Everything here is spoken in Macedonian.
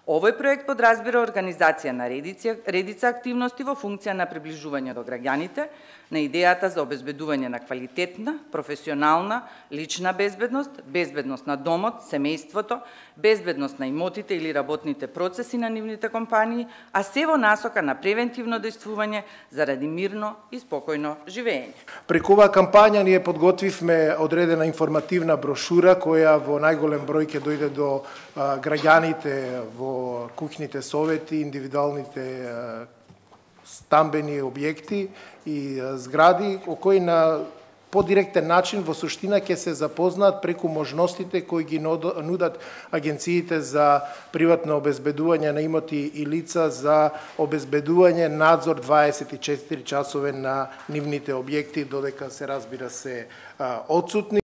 Овој проект подразбира организација на редица активности во функција на приближување до граѓаните на идејата за обезбедување на квалитетна, професионална, лична безбедност, безбедност на домот, семејството, безбедност на имотите или работните процеси на нивните компании, а се во насока на превентивно действување заради мирно и спокојно живење. Преку оваа кампања ние подготвивме одредена информативна брошура која во најголем број ќе дојде до граѓаните во куќните совети, индивидуалните стамбени објекти и згради, кои на подиректен начин во суштина ќе се запознаат преку можностите кои ги нудат агенциите за приватно обезбедување на имоти и лица за обезбедување надзор 24 часове на нивните објекти, додека се разбира се отсутни.